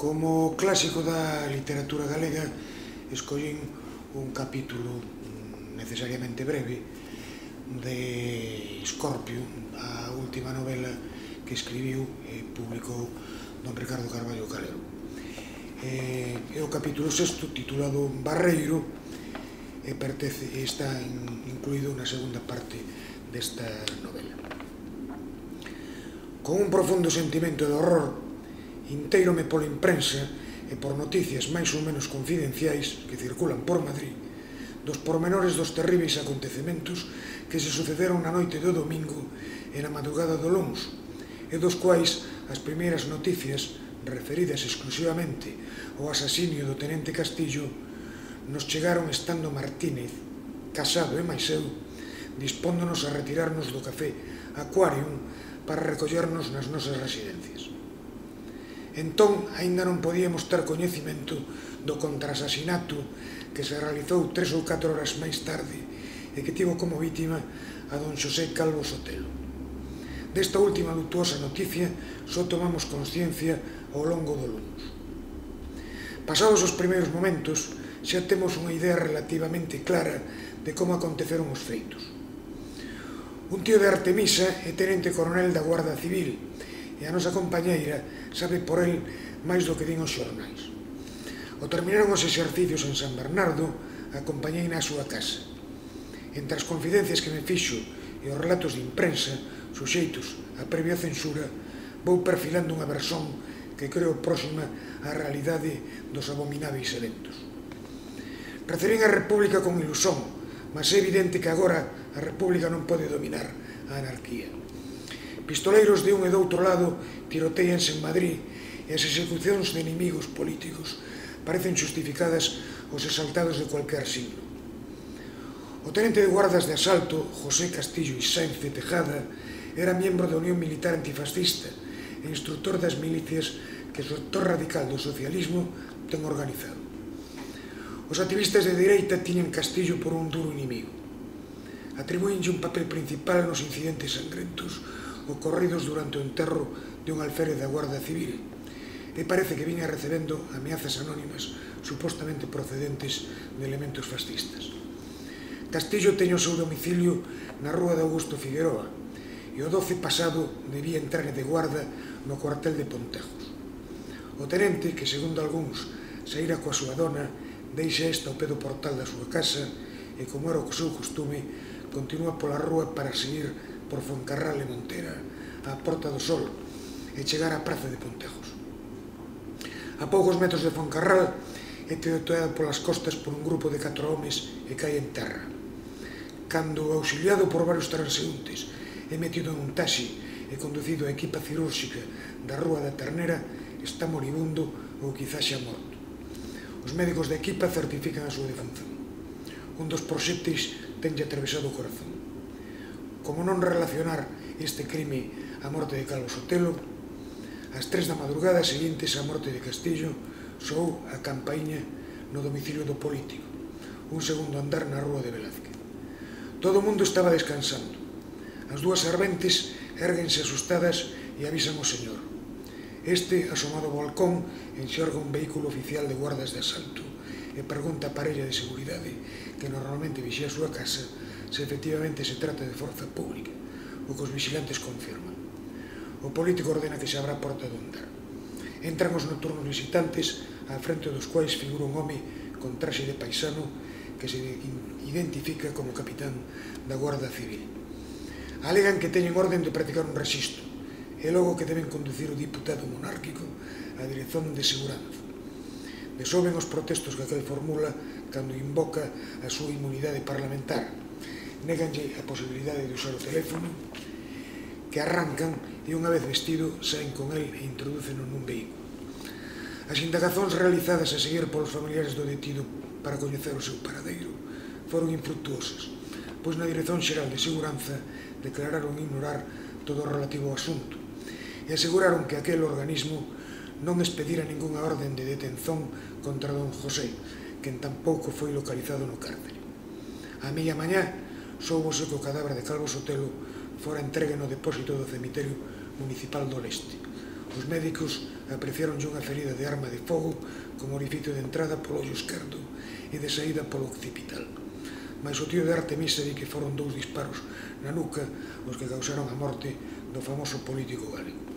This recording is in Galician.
Como clásico da literatura galega, escollín un capítulo necesariamente breve de Escorpio, a última novela que escribiu e publicou don Ricardo Carballo Calero. É o capítulo 6, titulado Barreiro, e está incluído na segunda parte desta novela. Con un profundo sentimento de horror, inteírome pola imprensa e por noticias máis ou menos confidenciais que circulan por Madrid dos pormenores dos terríveis acontecementos que se sucederon na noite do domingo e na madrugada do luns, e dos quais as primeiras noticias, referidas exclusivamente ao asasinio do tenente Castillo, nos chegaron estando Martínez, Casado e máis eu, dispóndonos a retirarnos do café Aquarium para recollernos nas nosas residencias. Entón, aínda non podíamos ter coñecimento do contraasasinato que se realizou 3 ou 4 horas máis tarde e que tivo como vítima a don Xosé Calvo Sotelo. Desta última lutuosa noticia só tomamos consciencia ao longo do luns. Pasados os primeiros momentos, xa temos unha idea relativamente clara de como aconteceron os feitos. Un tío de Artemisa é tenente coronel da Guarda Civil e a nosa compañeira sabe por el máis do que din os xornais. Ao terminaron os exercicios en San Bernardo, acompañei na súa casa. Entre as confidencias que me fixo e os relatos de imprensa, suxeitos a previa censura, vou perfilando unha versión que creo próxima á realidade dos abomináveis eventos. Recibín a República con ilusón, mas é evidente que agora a República non pode dominar a anarquía. Pistoleiros de un e do outro lado tiroteanse en Madrid e as execucións de inimigos políticos parecen justificadas aos exaltados de cualquier siglo. O tenente de guardas de asalto, José Castillo Sáenz de Tejada, era miembro da Unión Militar Antifascista e instructor das milicias que o sector radical do socialismo ten organizado. Os activistas de dereita tiñan Castillo por un duro inimigo. Atribúenlle un papel principal nos incidentes sangrentos ocorridos durante o enterro de un alférez da Guardia Civil, e parece que viña recebendo ameazas anónimas supostamente procedentes de elementos fascistas. Castillo teño o seu domicilio na rúa de Augusto Figueroa, e o 12 pasado debía entrar de guarda no cuartel de Pontejos. O tenente, que segundo algúns saíra coa súa dona, deixa esta ao pé do portal da súa casa e, como era o seu costume, continúa pola rúa para seguir por Foncarral e Montera, á Porta do Sol, e chegar á praza de Pontejos. A poucos metros de Foncarral é tiroteado polas costas por un grupo de 4 homes e cae en terra. Cando, auxiliado por varios transeúntes, é metido en un taxi e conducido a equipa cirúrxica da Rúa da Ternera, está moribundo ou quizás xa morto. Os médicos da equipa certifican a súa defunción. Un dos proxectos tenlle atravesado o corazón. Como non relacionar este crime á morte de Calvo Sotelo, ás 3 da madrugada seguintes á morte de Castillo soou a campaíña no domicilio do político, un segundo andar na rúa de Velázquez. Todo o mundo estaba descansando. As 2 serventes érguense asustadas e avisan ao señor. Este, asomado ao balcón, enxerga un vehículo oficial de guardas de asalto e pregunta á parella de seguridade, que normalmente vixía a súa casa, se efectivamente se trata de forza pública, o que os vigilantes confirman. O político ordena que se abra a porta do andar. Entran os nocturnos visitantes, á frente dos quais figura un home con traxe de paisano que se identifica como capitán da Guarda Civil. Alegan que teñen orden de practicar un rexistro e logo que deben conducir o diputado monárquico á Dirección de Seguranza. Desoben os protestos que aquel formula cando invoca a súa inmunidade parlamentar. Néganlle a posibilidade de usar o teléfono, que arrancan e unha vez vestido saen con el e introduceno nun vehículo. As indagazóns realizadas a seguir polos familiares do detido para coñecer o seu paradeiro foron infructuosas, pois na Dirección Xeral de Seguranza declararon ignorar todo o relativo ao asunto e aseguraron que aquel organismo non expedira ningunha orden de detención contra don José, quen tampouco foi localizado no cárcere. A media mañá soubose que o cadáver de Calvo Sotelo fora entregue no depósito do cemiterio municipal do Leste. Os médicos apreciaronlle unha ferida de arma de fogo con orificio de entrada polo ollo esquerdo e de saída polo occipital. Mais o tío de Artemisa di que foron 2 disparos na nuca os que causaron a morte do famoso político galego.